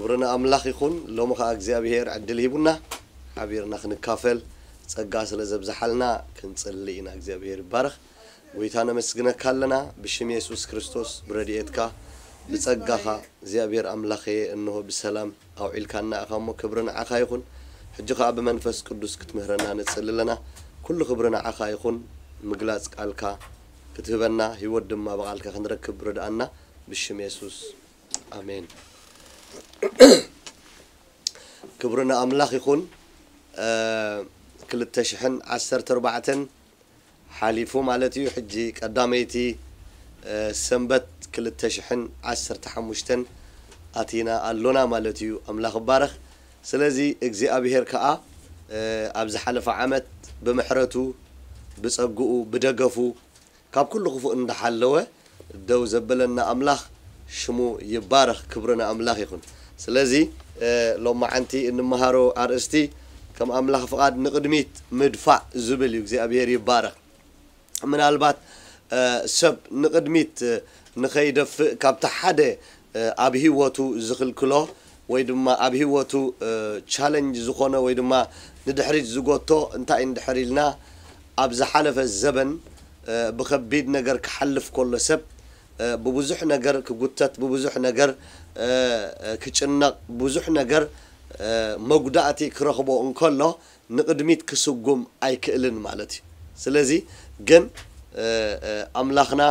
ክብሪ ንኣምላኽ ይኹን። ሎሚ ኸኣ እግዚኣብሄር ዕድል ሂቡና፣ ሓቢርና ክንካፈል ጸጋ ስለ ዘብዝሓልና ክንጽሊ ኢና። እግዚኣብሄር ይባረኽ። ጎይታ ነመስግነካ ኣለና፣ ብሽም የሱስ ክርስቶስ፣ ብረድኤትካ፣ ብጸጋኻ እግዚኣብሄር ኣምላኸየ፣ እንሆ ብሰላም ኣውዒልካና ኢኻ እሞ፣ ክብሪ ንዓኻ ይኹን። ሕጂ ኸኣ ብመንፈስ ቅዱስ ክትምህረና ንጽሊ ኣለና። ኩሉ ክብሪ ንዓኻ ይኹን። ምግላጽ ቃልካ ክትህበና፣ ህይወት ድማ ብቓልካ ክንረክብ ርድኣና፣ ብሽም የሱስ። ኣሜን። ክብሪ ንኣምላኽ ይኹን። እ፣ ክልተ ሽሕን ዓሰርተ ኣርባዕተን ሓሊፉ ማለት እዩ። ሕጂ ቀዳመይቲ፣ እ፣ ሰንበት ክልተ ሽሕን ዓሰርተ ሓሙሽተን ኣቲና ኣሎና ማለት እዩ። ኣምላኽ ይባረኽ። ስለዚ እግዚኣብሄር ከኣ፣ እ፣ ኣብ ዝሓለፈ ዓመት ብምሕረቱ፣ ብጸግኡ፣ ብደገፉ፣ ካብ ኩሉ ክፉእ እንዳሓለወ ደው ዘበለና ኣምላኽ ሽሙ ይባረኽ፣ ክብሪ ንኣምላኽ ይኹን። ስለዚ፣ እ፣ ሎማዓንቲ እንመሃሮ ኣርእስቲ ከም ኣምላኽ ፍቓድ ንቕድሚት ምድፋእ ዝብል እዩ። እግዚኣብሄር ይባረኽ። ምናልባት፣ እ፣ ሰብ ንቕድሚት፣ እ፣ ንኸይደፍእ ካብቲ ሓደ፣ እ፣ ኣብ ህይወቱ ዝኽልክሎ ወይ ድማ ኣብ ህይወቱ፣ እ፣ ቻለንጅ ዝኾነ ወይ ድማ ንድሕሪት ዝጎቶ እንታይ እንድሕር ኢልና፣ ኣብ ዝሓለፈ ዘበን፣ እ፣ ብኸቢድ ነገር ክሓልፍ ከሎ ሰብ፣ እ፣ ብብዙሕ ነገር ክጉተት፣ ብብዙሕ ነገር፣ እ፣ እ፣ ክጭነቕ፣ ብዙሕ ነገር፣ እ፣ መጉዳእቲ ክረኽቦ እንከሎ ንቕድሚት ክስጉም ኣይክእልን ማለት እዩ። ስለዚ ግን፣ እ፣ እ፣ ኣምላኽና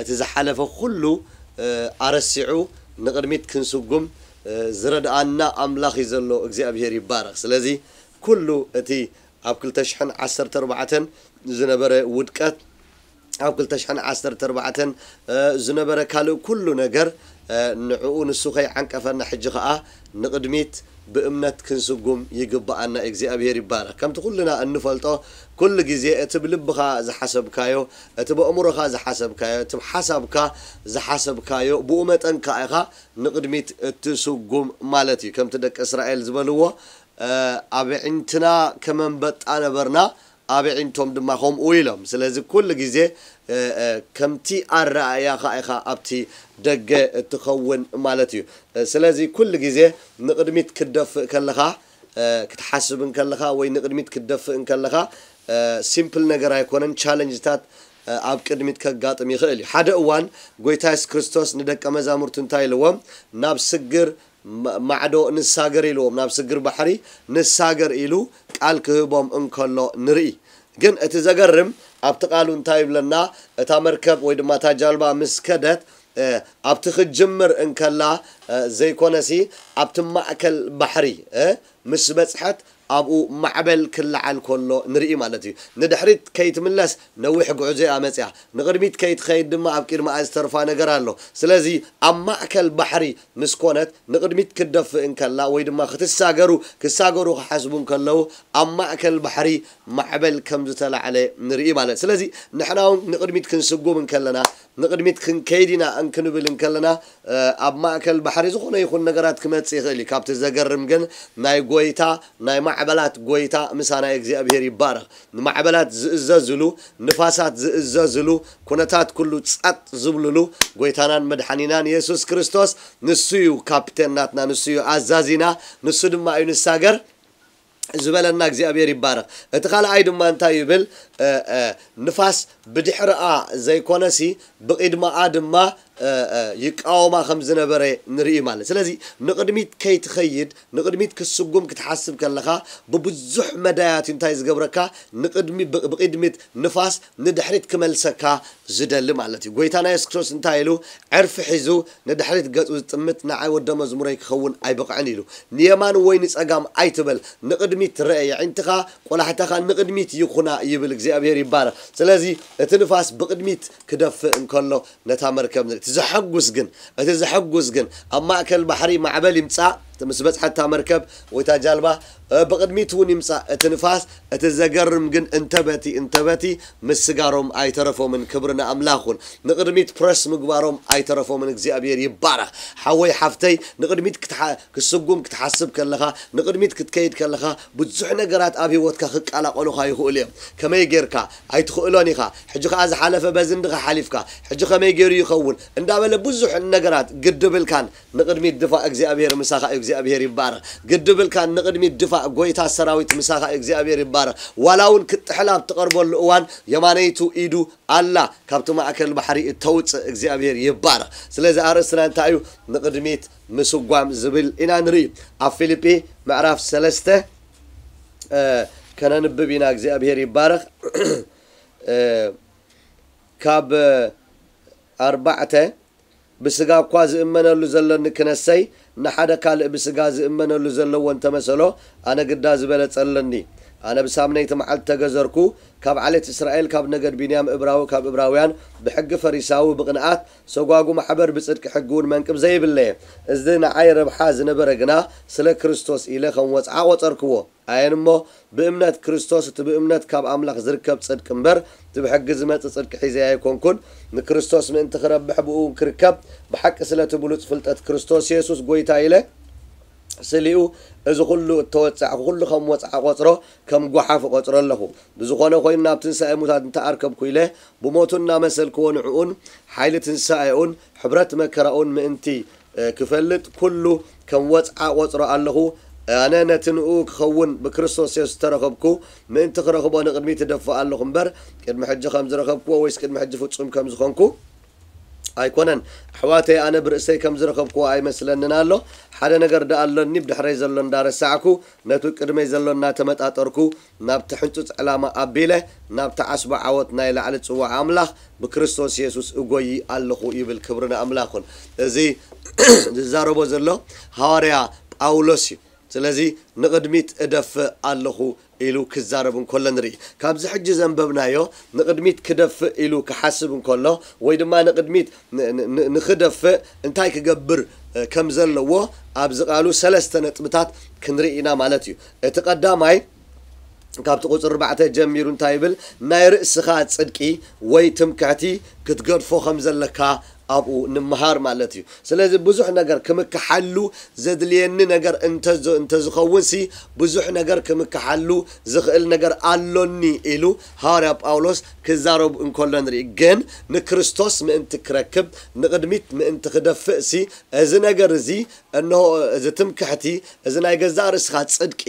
እቲ ዝሓለፈ ኩሉ፣ እ፣ ኣረሲዑ ንቕድሚት ክንስጉም፣ እ፣ ዝረድኣና ኣምላኽ እዩ ዘሎ። እግዚኣብሄር ይባረኽ። ስለዚ ኩሉ እቲ ኣብ ክልተ ሽሕን ዓሰርተ ኣርባዕተን ዝነበረ ውድቀት፣ ኣብ ክልተ ሽሕን ዓሰርተ ኣርባዕተን፣ እ፣ ዝነበረ ካልእ ኩሉ ነገር፣ እ፣ ንዕኡ ንሱ ከይዓንቀፈና፣ ሕጂ ኸኣ ንቕድሚት ብእምነት ክንስጉም ይግብኣና። እግዚኣብሄር ይባረኽ። ከምቲ ኩልና እንፈልጦ፣ ኩሉ ግዜ እቲ ብልብኻ ዝሓሰብካዮ፣ እቲ ብኣእምሮኻ ዝሓሰብካዮ፣ እቲ ብሓሳብካ ዝሓሰብካዮ፣ ብኡ መጠን ከኣ ኢኻ ንቕድሚት እትስጉም ማለት እዩ። ከምቲ ደቂ እስራኤል ዝበልዎ፣ እ፣ ኣብ ኣዒንትና ከም ኣንበጣ ነበርና፣ ኣብ ኣዒንቶም ድማ ከምኡ ኢሎም። ስለዚ ኩሉ ግዜ፣ እ፣ እ፣ ከምቲ ኣረኣእያኻ ኢኻ ኣብቲ ደገ እትኸውን ማለት እዩ። እ፣ ስለዚ ኩሉ ግዜ ንቕድሚት ክትደፍእ ከለኻ፣ እ፣ ክትሓስብ እንከለኻ ወይ ንቕድሚት ክትደፍእ እንከለኻ፣ እ፣ ሲምፕል ነገር ኣይኮነን። ቻለንጅታት፣ እ፣ ኣብ ቅድሚት ከጋጥም ይኽእል እዩ። ሓደ እዋን ጎይታ የሱስ ክርስቶስ ንደቀ መዛሙርቱ እንታይ ኢልዎም? ናብ ስግር ማ-፣ ማዕዶ ንሳገር ኢልዎም፣ ናብ ስግር ባሕሪ ንሳገር ኢሉ ቃል ክህቦም እንከሎ ንርኢ። ግን እቲ ዘገርም ኣብቲ ቃሉ እንታይ ይብለና? እታ መርከብ ወይ ድማ እታ ጃልባ ምስ ከደት፣ እ፣ ኣብቲ ክትጅምር እንከላ፣ እ፣ ዘይኮነሲ ኣብቲ ማእከል ባሕሪ፣ እ፣ ምስ በጽሐት ኣብኡ ማዕበል ክለዓል ከሎ ንርኢ ማለት እዩ። ንድሕሪት ከይትምለስ ነዊሕ ጉዕዞ እያ መጽያ። ንቕድሚት ከይትኸይድ ድማ ኣብ ቅድሚኣ ዝተርፋ ነገር ኣሎ። ስለዚ ኣብ ማእከል ባሕሪ ምስ ኮነት ንቕድሚት ክትደፍእ እንከላ ወይ ድማ ክትሳገሩ፣ ክሳገሩ ክሓስቡ እንከለዉ ኣብ ማእከል ባሕሪ ማዕበል ከም ዝተላዕለ ንርኢ ማለት። ስለዚ ንሕና እውን ንቕድሚት ክንስጉም እንከለና፣ ንቕድሚት ክንከይድ ኢና እንክንብል እንከለና፣ እ፣ ኣብ ማእከል ባሕሪ ዝኾነ ይኹን ነገራት ክመጽእ ይኽእል እዩ። ካብቲ ዘገርም ግን ናይ ጎይታ፣ ናይ ማዕበላት ጎይታ ምሳና እግዚኣብሄር ይባረኽ። ንማዕበላት ዝእዘዝሉ፣ ንፋሳት ዝእዘዝሉ፣ ኩነታት ኩሉ ጸጥ ዝብልሉ ጎይታናን መድሓኒናን የሱስ ክርስቶስ ንሱ እዩ ካፕቴን ናትና፣ ንሱ እዩ ኣዛዚና፣ ንሱ ድማ እዩ ንሳገር ዝበለና እግዚኣብሔር ይባረኽ። እቲ ካልኣይ ድማ እንታይ ይብል? እ፣ እ፣ ንፋስ ብድሕርኣ ዘይኮነሲ ብቕድማኣ ድማ፣ እ፣ እ፣ ይቃወማ ከም ዝነበረ ንርኢ ማለት። ስለዚ ንቕድሚት ከይትኸይድ፣ ንቕድሚት ክትስጉም ክትሓስብ ከለኻ ብብዙሕ መዳያት እዩ እንታይ ዝገብረካ? ንቕድሚ-፣ ብ-፣ ብቕድሚት ንፋስ ንድሕሪት ክመልሰካ ዝደሊ ማለት እዩ። ጎይታና የሱስ ክርስቶስ እንታይ ኢሉ? ዕርፊ ሒዙ ንድሕሪት ገጹ ዝጥምት ንዓይ ወደ መዝሙረይ ክኸውን ኣይበቕዕን ኢሉ። ንየማን ወይ ንጸጋም ኣይትበል፣ ንቕድሚት ርአ፣ የዒንትኻ ቆላሕታኻ ንቕድሚት ይኹና ይብል። እግዚኣብሔር ይባረኽ። ስለዚ እቲ ንፋስ ብቕድሚት ክደፍእ እንከሎ ነታ መርከብ ንርኢ። እቲ ዘሐጉስ ግን፣ እቲ ዘሐጉስ ግን ኣብ ማእከል ባሕሪ ማዕበል ይምጻእ፣ ምስ በጽሐት እታ መርከብ ወይ እታ ጃልባ፣ እ፣ ብቕድሚት እውን ይምጻእ እቲ ንፋስ፣ እቲ ዘገርም ግን እንተበቲ፣ እንተበቲ ምስጋሮም ኣይተረፎምን። ክብሪ ንኣምላኽ ይኹን። ንቕድሚት ፕረስ ምግባሮም ኣይተረፎምን። እግዚኣብሔር ይባረኽ። ሓወይ ሓፍተይ፣ ንቕድሚት ክትሓ-፣ ክትስጉም ክትሓስብ ከለኻ፣ ንቕድሚት ክትከይድ ከለኻ፣ ብዙሕ ነገራት ኣብ ህይወትካ ክቀላቐሉኻ ይኽእሉ እዮም። ከመይ ጌርካ? ኣይትኽእሎን ኢኻ። ሕጂ ኸኣ ዝሓለፈ በዚ እንድኻ ሓሊፍካ፣ ሕጂ ከመይ ገይሩ ይኸውን? እንዳበለ ብዙሕ ነገራት ግድብልካን ንቕድሚት ድፋእ፣ እግዚኣብሔር ምሳኻ እዩ። እግዚኣብሔር ይባረኽ። ግድብልካ ንቕድሚት ድፋእ፣ ጎይታ ሰራዊት ምሳኻ እግዚኣብሔር ይባረኽ። ዋላ እውን ክትጥሕል ኣብ ትቐርበሉ እዋን የማነይቱ ኢዱ ኣላ፣ ካብቲ ማእከል ባሕሪ እተውፅእ እግዚኣብሔር ይባረኽ። ስለዚ ኣርእስትና እንታይ እዩ? ንቕድሚት ምስጓም ዝብል ኢና ንርኢ። ኣብ ፊልጲ ምዕራፍ ሰለስተ ከነንብብ ኢና። እግዚኣብሔር ይባረኽ። ካብ ኣርባዕተ ብስጋ እኳ ዝእመነሉ ዘለኒ ክነሰይ፣ ንሓደ ካልእ ብስጋ ዝእመነሉ ዘለዎ እንተመሰሎ፣ ኣነ ግዳ ዝበለጸ ኣለኒ። ኣነ ብሳምነይቲ መዓልቲ ተገዘርኩ፣ ካብ ዓሌት እስራኤል፣ ካብ ነገድ ቢንያም እብራዊ፣ ካብ እብራውያን፣ ብሕጊ ፈሪሳዊ፣ ብቕንኣት ሰጓጉ ማሕበር፣ ብጽድቂ ሕጊ እውን መንቅብ ዘይብለየ። እዚ ንዓይ ረብሓ ዝነበረ ግና ስለ ክርስቶስ ኢለ ከም ወጽዓ ቆጸርክዎ። ኣየን እሞ ብእምነት ክርስቶስ፣ እቲ ብእምነት ካብ ኣምላኽ ዝርከብ ጽድቂ እምበር፣ እቲ ብሕጊ ዝመጽእ ጽድቂ ሒዘ ኣይኮንኩን። ንክርስቶስ ምእንቲ ክረብሕ ብኡ ክርከብ፣ ብሓቂ ስለቲ ብሉጽ ፍልጠት ክርስቶስ የሱስ ጎይታ ኢለ ስሊኡ፣ እዚ ኩሉ እተወጻዕኩ ኩሉ ከም ወጽዓ ቆጽሮ፣ ከም ጓሓፍ እቆጽሮ ኣለኹ። ብዝኾነ ኮይኑ ናብ ትንሳኤ ሙታት እንተኣርከብኩ ኢለ ብሞቱ እናመሰልክዎ ንዕኡን ሓይሊ ትንሳኤኡን ሕብረት መከራኡን ምእንቲ ክፈልጥ ኩሉ ከም ወጽዓ ቆጽሮ ኣለኹ። ኣነ ነቲ ንኡ ክኸውን ብክርስቶስ የሱስ ዝተረኸብኩ ምእንቲ ክረኽቦ ንቕድሚት እደፍእ ኣለኹ እምበር፣ ቅድሚ ሕጂ ከም ዝረኸብክዎ ወይስ ቅድሚ ሕጂ ፍጹም ከም ዝኾንኩ ኣይኮነን። ኣሕዋተይ፣ ኣነ ብርእሰይ ከም ዝረኸብክዎ ኣይመስለንን ኣሎ። ሓደ ነገር ደኣ ኣሎኒ፣ ብድሕረይ ዘሎ እንዳረሳዕኩ፣ ነቱ ቅድመይ ዘሎ እናተመጣጠርኩ፣ ናብቲ ሕንጹጽ ዕላማ ኣቢለ፣ ናብቲ ዓስቢ ዓወት ናይ ላዕሊ ጽዋዕ ኣምላኽ ብክርስቶስ የሱስ እጎዪ ኣለኹ ይብል። ክብሪ ንኣምላኽ ይኹን። እዚ ዝዛረቦ ዘሎ ሃዋርያ ጳውሎስ እዩ። ስለዚ ንቕድሚት እደፍእ ኣለኹ ኢሉ ክዛረብ እንከሎ ንርኢ። ካብዚ ሕጂ ዘንበብናዮ ንቕድሚት ክደፍእ ኢሉ ክሓስብ እንከሎ ወይ ድማ ንቕድሚት ን-፣ ን-፣ ን-፣ ንኽደፍእ እንታይ ክገብር፣ እ፣ ከም ዘለዎ ኣብዚ ቃሉ ሰለስተ ነጥብታት ክንርኢ ኢና ማለት እዩ። እቲ ቀዳማይ ካብቲ ቁጽሪ ኣርባዕተ ጀሚሩ እንታይ ይብል? ናይ ርእስኻ ጽድቂ ወይ ትምክሕቲ ክትገድፎ ከም ዘለካ ኣብኡ ንምሃር ማለት እዩ። ስለዚ ብዙሕ ነገር ክምክሓሉ ዘድልየኒ ነገር እንተዝ-፣ እንተዝኸውን ሲ ብዙሕ ነገር ክምክሓሉ ዝኽእል ነገር ኣሎኒ ኢሉ ሃዋርያ ጳውሎስ ክዛረብ እንከሎ ንርኢ። ግን ንክርስቶስ ምእንቲ ክረክብ ንቕድሚት ምእንቲ ክደፍእ ሲ እዚ ነገር እዚ እንሆ እዚ ትምክሕቲ፣ እዚ ናይ ገዛእ ርእስኻ ጽድቂ፣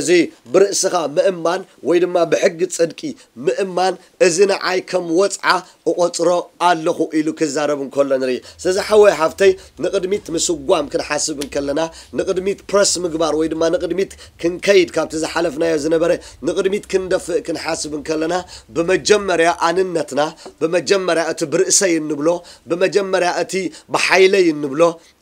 እዚ ብርእስኻ ምእማን ወይ ድማ ብሕጊ ጽድቂ ምእማን፣ እዚ ንዓይ ከም ወጽዓ እቖጽሮ ኣለኹ ኢሉ ክዛረብ እንከሎ ንርኢ። ስለዚ ሓወይ ሓፍተይ፣ ንቕድሚት ምስጓም ክንሓስብ እንከለና፣ ንቕድሚት ፕረስ ምግባር ወይ ድማ ንቕድሚት ክንከይድ፣ ካብቲ ዝሓለፍናዮ ዝነበረ ንቕድሚት ክንደፍእ ክንሓስብ እንከለና፣ ብመጀመርያ ኣንነትና፣ ብመጀመርያ እቲ ብርእሰይ እንብሎ፣ ብመጀመርያ እቲ ብሓይለይ እንብሎ፣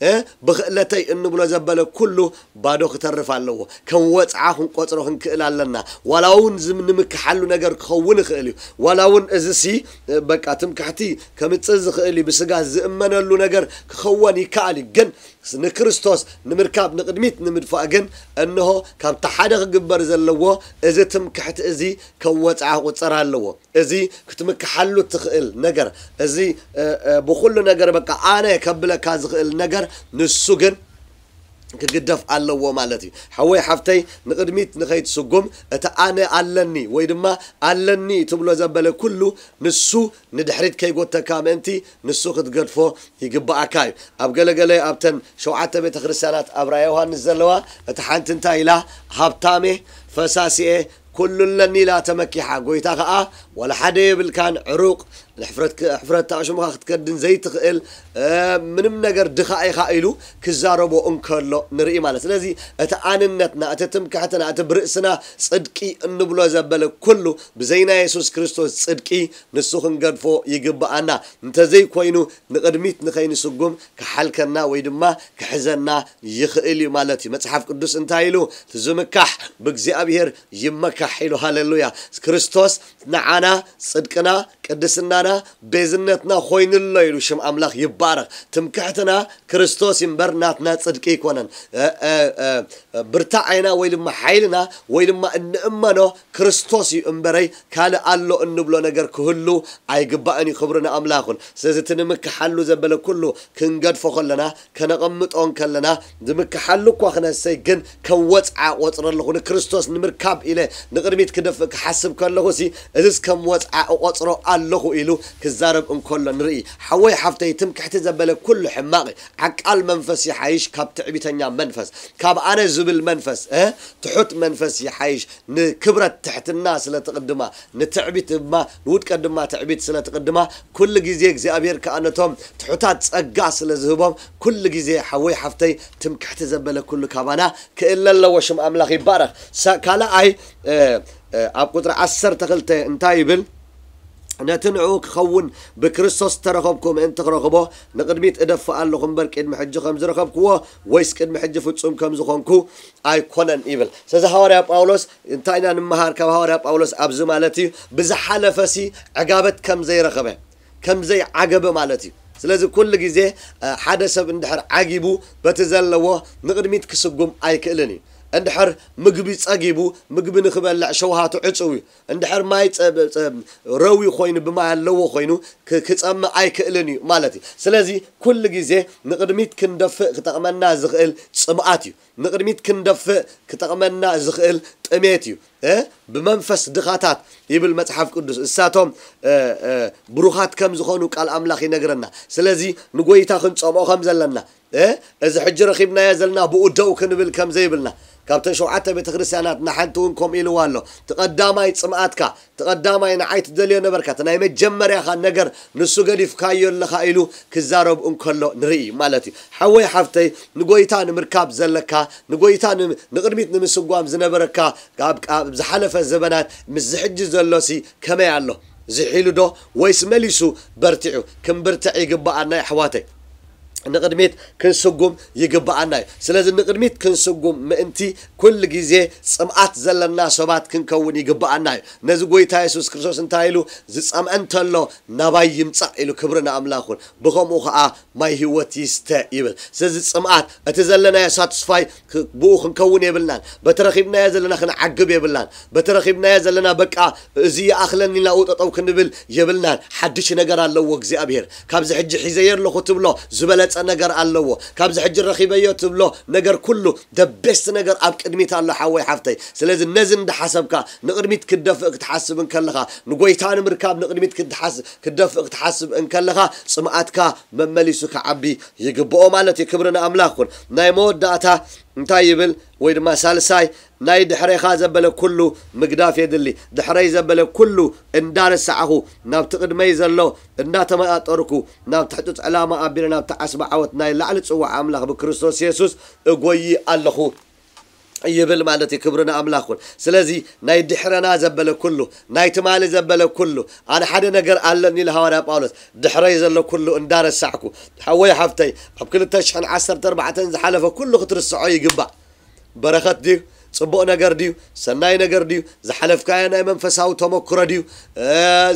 እ፣ ብኽእለተይ እንብሎ ዘበለ ኩሉ ባዶ ክተርፍ ኣለዎ። ከም ወጽዓ ክንቆጽሮ ክንክእል ኣለና። ዋላ እውን ዝም-፣ ንምክሓሉ ነገር ክኸውን ይኽእል እዩ። ዋላ እውን እዚ ሲ፣ እ፣ በቃ ትምክሕቲ ከምጽእ ዝኽእል እዩ። ብስጋ ዝእመነሉ ነገር ክኸውን ይከኣል እዩ። ግን ንክርስቶስ ንምርካብ ንቕድሚት ንምድፋእ ግን እንሆ ካብቲ ሓደ ክግበር ዘለዎ እዚ ትምክሕቲ እዚ ከም ወጽዓ ክቑጸር ኣለዎ። እዚ ክትምክሓሉ ትኽእል ነገር፣ እዚ፣ እ፣ እ፣ ብኹሉ ነገር በቃ ኣነ ከብለካ ዝኽእል ነገር ንሱ ግን ክግደፍ ኣለዎ ማለት እዩ። ሓወይ ሓፍተይ፣ ንቕድሚት ንኸይትስጉም እቲ ኣነ ኣለኒ ወይ ድማ ኣለኒ ትብሎ ዘበለ ኩሉ ንሱ ንድሕሪት ከይጎተካ ምእንቲ ንሱ ክትገድፎ ይግብኣካ እዩ። ኣብ ገለገለ ኣብተን ሸውዓተ ቤተ ክርስቲያናት ኣብ ራእየ ዮሃንስ ዘለዋ እቲ ሓንቲ እንታይ ኢላ? ሃብታሜ፣ ፈሳሲኤ፣ ኩሉ ኣለኒ ኢላ ተመኪሓ። ጎይታ ኸኣ ዋላ ሓደ የብልካን፣ ዕሩቕ፣ ንሕፍረት ክ-፣ ሕፍረት ኣሽሙኻ ክትከድን ዘይትኽእል፣ እ፣ ምንም ነገር ድኻ ኢኻ ኢሉ ክዛረቦ እንከሎ ንርኢ ማለት። ስለዚ እቲ ኣንነትና፣ እቲ ትምክሕትና፣ እቲ ብርእስና ጽድቂ እንብሎ ዘበለ ኩሉ ብዘይ ናይ የሱስ ክርስቶስ ጽድቂ ንሱ ክንገድፎ ይግብኣና። እንተዘይኮይኑ ንቕድሚት ንኸይንስጉም ክሓልከና ወይ ድማ ክሕዘና ይኽእል እዩ ማለት እዩ። መጽሓፍ ቅዱስ እንታይ ኢሉ? እቲ ዝምካሕ ብእግዚኣብሔር ይመካሕ ኢሉ። ሃሌሉያ። ክርስቶስ ንዓና ጽድቅና፣ ቅድስናና፣ ቤዝነትና ኮይኑሎ ኢሉ ሽም ኣምላኽ ይባረኽ። ትምክሕትና ክርስቶስ እምበር ናትና ጽድቂ ኣይኮነን። እ፣ እ፣ እ፣ ብርታዐና ወይ ድማ ሓይልና ወይ ድማ እንእመኖ ክርስቶስ እዩ እምበረይ ካልእ ኣሎ እንብሎ ነገር ክህሉ ኣይግባእን እዩ። ክብሪ ንኣምላኽ ይኹን። ስለዚ እቲ ንምክሓሉ ዘበለ ኩሉ ክንገድፎ ከለና፣ ከነቐምጦ እንከለና፣ ዝምክሓሉ እኳ ክነሰይ ግን ከም ወጽዓ ቆጽሮ ኣለኹ። ንክርስቶስ ንምርካብ ኢለ ንቕድሚት ክደፍእ ክሓስብ ከለኹ ሲ እዝስ ከም ወጽዓ እቆጽሮ ኣለኹ ኢሉ ክዛረብ እንከሎ ንርኢ። ሓወይ ሓፍተይ፣ ትምክሕቲ ዘበለ ኩሉ ሕማቕ እዩ። ዓቃል መንፈስ ይሓይሽ ካብ ትዕቢተኛ መንፈስ፣ ካብ ኣነ ዝብል መንፈስ፣ እ፣ ትሑት መንፈስ ይሓይሽ። ንክብረት ትሕትና ስለ ትቕድማ፣ ንትዕቢት ድማ፣ ንውድቀት ድማ ትዕቢት ስለ ትቕድማ፣ ኩሉ ግዜ እግዚኣብሔር ከኣ ነቶም ትሑታት ጸጋ ስለ ዝህቦም፣ ኩሉ ግዜ ሓወይ ሓፍተይ ትምክሕቲ ዘበለ ኩሉ ካባና ክእለ ኣለዎ። ሽም ኣምላኽ ይባረኽ። ሳ-፣ ካልኣይ፣ እ፣ እ፣ ኣብ ቁጽሪ ዓሰርተ ክልተ እንታይ ይብል? ነቲ ንዕኡ ክኸውን ብክርስቶስ ዝተረኸብኩ ምእንቲ ክረኽቦ ንቕድሚት እደፍእ ኣለኹ እምበር፣ ቅድሚ ሕጂ ከም ዝረኸብክዎ ወይስ ቅድሚ ሕጂ ፍጹም ከም ዝኾንኩ ኣይኮነን ይብል። ስለዚ ሃዋርያ ጳውሎስ እንታይ ኢና ንምሃር ካብ ሃዋርያ ጳውሎስ ኣብዚ ማለት እዩ? ብዝሓለፈሲ ዕጋበት ከም ዘይረኸበ፣ ከም ዘይዓገበ ማለት እዩ። ስለዚ ኩሉ ግዜ፣ እ፣ ሓደ ሰብ እንድሕር ዓጊቡ በቲ ዘለዎ ንቕድሚት ክስጉም ኣይክእልን እዩ። እንድሕር ምግቢ ጸጊቡ ምግቢ ንኽበልዕ ሸውሃቱ ዕጹው እዩ። እንድሕር ማይ ጸ-፣ ጸ-፣ ረዊ ኮይኑ ብማይ ኣለዎ ኮይኑ ክ-፣ ክጸምእ ኣይክእልን እዩ ማለት እዩ። ስለዚ ኩሉ ግዜ ንቕድሚት ክንደፍእ ክጠቕመና ዝኽእል ጽምኣት እዩ። ንቕድሚት ክንደፍእ ክጠቕመና ዝኽእል ጥሜት እዩ። እ? ብመንፈስ ድኻታት ይብል መጽሓፍ ቅዱስ። እሳቶም፣ እ፣ እ፣ ብሩኻት ከም ዝኾኑ ቃል ኣምላኽ ይነግረና። ስለዚ ንጎይታ ክንጸምኦ ከም ዘለና፣ እ፣ እዚ ሕጂ ረኺብናዮ ዘለና ብኡ ደው ክንብል ከም ዘይብልና፣ ካብተን ሸውዓተ ቤተ ክርስቲያናት ንሓንቲ እውን ከምኡ ኢልዋ ኣሎ። እቲ ቀዳማይ ጽምኣትካ፣ እቲ ቀዳማይ ንዓይ ትደልዮ ነበርካ፣ እቲ ናይ መጀመርያኻ ነገር ንሱ ገዲፍካዮ ኣለኻ ኢሉ ክዛረብ እንከሎ ንርኢ ማለት እዩ። ሓወይ ሓፍተይ፣ ንጎይታ ንምርካብ ዘለካ፣ ንጎይታ ን-፣ ንቕድሚት ንምስጓም ዝነበረካ፣ ካብ፣ ካብ ዝሓለፈ ዘበናት ምስዚ ሕጂ ዘሎሲ ከመይ ኣሎ? ዝሒሉ ዶ ወይስ መሊሱ በርቲዑ? ክንብርትዕ ይግብኣና ኣሕዋተይ። ንቕድሚት ክንስጉም ይግብኣና እዩ። ስለዚ ንቕድሚት ክንስጉም ምእንቲ ኩሉ ግዜ ጽምኣት ዘለና ሰባት ክንከውን ይግብኣና እዩ። ነዚ ጎይታ የሱስ ክርስቶስ እንታይ ኢሉ? "ዝጸምአ እንተሎ ናባይ ይምጻእ" ኢሉ። ክብሪ ንኣምላኽ ይኹን። ብኸምኡ ኸኣ ማይ ህይወት ይስተ ይብል። ስለዚ ጽምኣት፣ እቲ ዘለናዮ ሳትስፋይ ክ-፣ ብኡ ክንከውን የብልናን። በቲ ረኺብናዮ ዘለና ክንዓግብ የብልናን። በቲ ረኺብናዮ ዘለና በቃ እዚ ይኣኽለኒ ኢልና ጠጠው ክንብል የብልናን። ሓድሽ ነገር ኣለዎ እግዚኣብሔር። ካብዚ ሕጂ ሒዘዮ ኣለኹ ትብሎ ዝበለጸ ነገር ኣለዎ። ካብዚ ሕጂ ረኺበዮ ትብሎ ነገር ኩሉ the best ነገር ኣብ ቅድሚት ኣሎ ሓወይ ሓፍተይ። ስለዚ ነዚ እንዳሓሰብካ ንቕድሚት ክትደፍእ ክትሓስብ እንከለኻ፣ ንጎይታ ንምርካብ ንቕድሚት ክትሓስ-፣ ክትደፍእ ክትሓስብ እንከለኻ ጽምኣትካ መመሊሱ ክዓቢ ይግብኦ ማለት እዩ። ክብሪ ንኣምላኽ ይኹን። ናይ መወዳእታ እንታይ ይብል? ወይ ድማ ሳልሳይ፣ ናይ ድሕሬኻ ዘበለ ኩሉ ምግዳፍ የድሊ። ድሕረይ ዘበለ ኩሉ እንዳረሳዕኹ፣ ናብቲ ቅድመይ ዘሎ እንዳተመጣጠርኩ፣ ናብቲ ሕጹጽ ዕላማ ኣቢለ ናብቲ ዓስቢ ዓወት ናይ ላዕሊ ጽዋዕ ኣምላኽ ብክርስቶስ የሱስ እጎዪ ኣለኹ ይብል ማለት እዩ። ክብሪ ንኣምላኽ ይኹን። ስለዚ ናይ ድሕረና ዘበለ ኩሉ፣ ናይ ትማሊ ዘበለ ኩሉ፣ ኣነ ሓደ ነገር ኣለኒ ኢሉ ሃዋርያ ጳውሎስ፣ ድሕረይ ዘሎ ኩሉ እንዳረሳዕኩ፣ ሓወይ ሓፍተይ፣ ኣብ ክልተ ሽሕን ዓሰርተ ኣርባዕተን ዝሓለፈ ኩሉ ክትርስዖ ይግባእ። በረኸት ድዩ? ጽቡቕ ነገር ድዩ? ሰናይ ነገር ድዩ? ዝሓለፍካዮ ናይ መንፈሳዊ ተመክሮ ድዩ? እ፣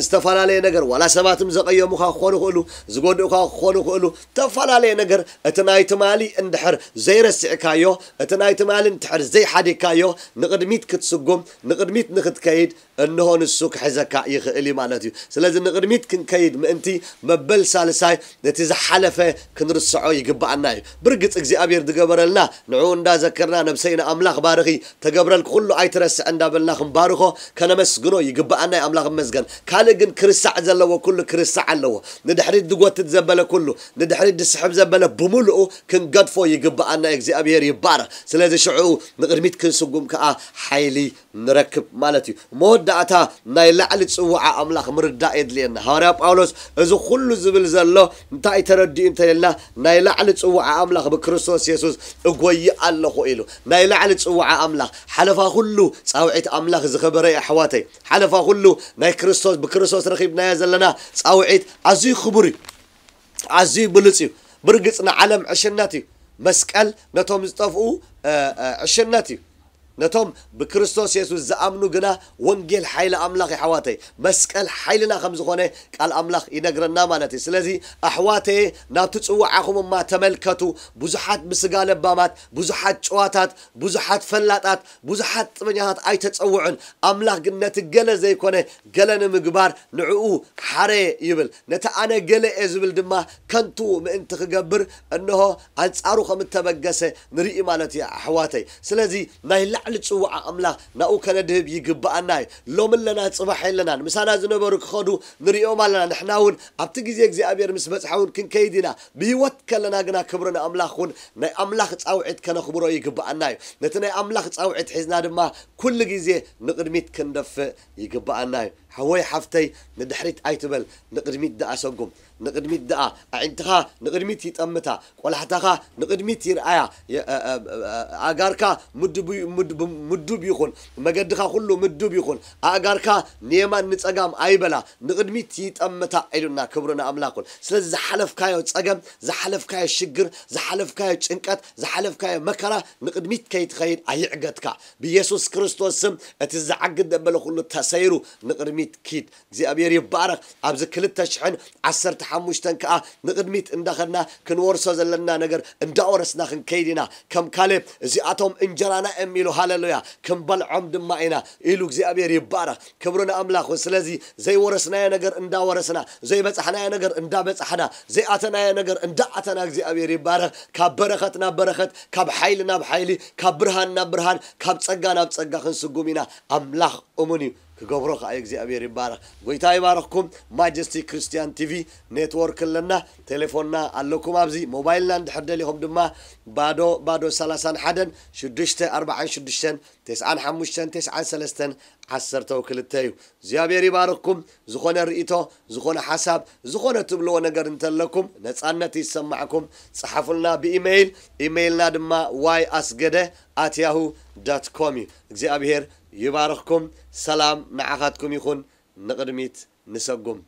ዝተፈላለየ ነገር፣ ዋላ ሰባትም ዘቐየሙኻ ክኾኑ ይኽእሉ፣ ዝጎድኡኻ ክኾኑ ይኽእሉ፣ ዝተፈላለየ ነገር፣ እቲ ናይ ትማሊ እንድሕር ዘይረሲዕካዮ፣ እቲ ናይ ትማሊ እንድሕር ዘይሓዲግካዮ፣ ንቕድሚት ክትስጉም፣ ንቕድሚት ንኽትከይድ፣ እንሆ ንሱ ክሕዘካ ይኽእል እዩ ማለት እዩ። ስለዚ ንቕድሚት ክንከይድ ምእንቲ መበል ሳልሳይ ነቲ ዝሓለፈ ክንርስዖ ይግብኣና እዩ። ብርግጽ እግዚኣብሔር ዝገበረልና ንዕኡ እንዳዘከርና ነብሰይ ንኣምላኽ ባርኺ፣ ተገብረልኪ ኩሉ ኣይትረስዕ እንዳበልና ክንባርኾ ከነመስግኖ ይግብኣና እዩ። ኣምላኽ ይመስገን። ካልእ ግን ክርሳዕ ዘለዎ ኩሉ ክርሳዕ ኣለዎ። ንድሕሪት ዝጎትት ዘበለ ኩሉ፣ ንድሕሪት ዝስሕብ ዘበለ ብምሉኡ ክንገድፎ ይግብኣና እዩ። እግዚኣብሔር ይባረኽ። ስለዚ ሽዑ ንቕድሚት ክንስጉም ከኣ ሓይሊ ንረክብ ማለት እዩ። መወዳእታ ናይ ላዕሊ ጽውዓ ኣምላኽ ምርዳእ የድልየና። ሃዋርያ ጳውሎስ እዚ ኩሉ ዝብል ዘሎ እንታይ ተረዲኡ እንተኢልና፣ ናይ ላዕሊ ጽውዓ ኣምላኽ ብክርስቶስ የሱስ እጎይ ኣለኹ ኢሉ። ናይ ላዕሊ ጽውዓ ኣምላኽ ሓለፋ ኩሉ ጻውዒት ኣምላኽ ዝኸበረ እዩ ኣሕዋተይ። ሓለፋ ኩሉ ናይ ክርስቶስ፣ ብክርስቶስ ረኺብናዮ ዘለና ጻውዒት ኣዝዩ ክቡር እዩ። ኣዝዩ ብሉጽ እዩ። ብርግጽ ንዓለም ዕሽነት እዩ። መስቀል ነቶም ዝጠፍኡ፣ እ፣ እ፣ ዕሽነት እዩ። ነቶም ብክርስቶስ የሱስ ዝኣምኑ ግና ወንጌል ሓይሊ ኣምላኽ እዩ፣ ኣሕዋተይ። መስቀል ሓይልና ከም ዝኾነ ቃል ኣምላኽ ይነግረና ማለት እዩ። ስለዚ ኣሕዋተየ፣ ናብቲ ጽዋዓኹም እማ ተመልከቱ። ብዙሓት ብስጋ ለባማት፣ ብዙሓት ጭዋታት፣ ብዙሓት ፈላጣት፣ ብዙሓት ጥበኛታት ኣይተጸውዑን። ኣምላኽ ግን ነቲ ገለ ዘይኮነ ገለ ንምግባር ንዕኡ ሓረ ይብል። ነቲ ኣነ ገለ እየ ዝብል ድማ ከንቱ ምእንቲ ክገብር፣ እንሆ ኣንጻሩ ከም እተበገሰ ንርኢ ማለት እዩ ኣሕዋተይ። ስለዚ ናይ ልዕሊ ጽውዓ ኣምላኽ ናብኡ ከነድህብ ይግብኣና እዩ። ሎም ኣለና፣ ጽባሕ የለናን። ምሳና ዝነበሩ ክኸዱ ንርእዮም ኣለና። ንሕና እውን ኣብቲ ግዜ እግዚኣብሔር ምስ በጽሐ እውን ክንከይድ ኢና። ብህይወት ከለና ግና ክብሪ ንኣምላኽ እውን ናይ ኣምላኽ ጻውዒት ከነኽብሮ ይግብኣና እዩ። ነቲ ናይ ኣምላኽ ጻውዒት ሒዝና ድማ ኩሉ ግዜ ንቕድሚት ክንደፍእ ይግብኣና እዩ። ሓወይ ሓፍተይ ንድሕሪት ኣይትበል፣ ንቕድሚት ደኣ ሰጉም። ንቕድሚት ደኣ ኣዒንትኻ ንቕድሚት ይጠምታ፣ ቆላሕታኻ ንቕድሚት ይርኣያ፣ ኣእጋርካ ምዱብ ይኹን፣ መገድኻ ኩሉ ምዱብ ይኹን፣ ኣእጋርካ ንየማን ንጸጋም ኣይበላ፣ ንቕድሚት ይጠምታ ኢሉና። ክብሪ ንኣምላኽ ይኹን። ስለዚ ዝሓለፍካዮ ጸገም፣ ዝሓለፍካዮ ሽግር፣ ዝሓለፍካዮ ጭንቀት፣ ዝሓለፍካዮ መከራ ንቕድሚት ከይትኸይድ ኣይዕገትካ። ብየሱስ ክርስቶስ ስም እቲ ዝዓግድ ደበለ ኩሉ ተሰይሩ ንቕድሚት ኪድ። እግዚኣብሔር ይባረኽ። ኣብዚ ክልተ ሽሕን ዓሰርተ ሓሙሽተን ከኣ ንቕድሚት እንዳኸድና ክንወርሶ ዘለና ነገር እንዳወረስና ክንከይድ ኢና። ከም ካሌብ እዚኣቶም እንጀራና እዮም ኢሉ፣ ሃሌሉያ፣ ክንበልዖም ድማ ኢና ኢሉ። እግዚኣብሔር ይባረኽ። ክብሪ ንኣምላኽ። ስለዚ ዘይወረስናዮ ነገር እንዳወረስና፣ ዘይበጻሕናዮ ነገር እንዳበጻሕና፣ ዘይኣተናዮ ነገር እንዳኣተና እግዚኣብሔር ይባረኽ። ካብ በረኸት ናብ በረኸት፣ ካብ ሓይሊ ናብ ሓይሊ፣ ካብ ብርሃን ናብ ብርሃን፣ ካብ ጸጋ ናብ ጸጋ ክንስጉም ኢና። ኣምላኽ እሙን እዩ፣ ክገብሮ ከኣ እግዚኣብሔር ይባረኽ። ጎይታ ይባረኽኩም። ማጀስቲ ክርስቲያን ቲቪ ኔትወርክ ኣለና፣ ቴሌፎንና ኣለኩም ኣብዚ። ሞባይልና እንድሕር ደሊኹም ድማ ባዶ ባዶ ሰላሳን ሓደን ሽዱሽተ ኣርባዓን ሽዱሽተን ተስዓን ሓሙሽተን ተስዓን ሰለስተን ዓሰርተው ክልተ እዩ። እግዚኣብሔር ይባርኽኩም። ዝኾነ ርእይቶ፣ ዝኾነ ሓሳብ፣ ዝኾነ ትብልዎ ነገር እንተለኩም ነጻነት ይሰማዕኩም። ጸሓፉልና ብኢሜይል። ኢሜይልና ድማ ዋይ ኣስገደ ኣት ያሁ ዳት ኮም እዩ። እግዚኣብሔር ይባርኽኩም። ሰላም ንዓኻትኩም ይኹን። ንቕድሚት ንሰጉም።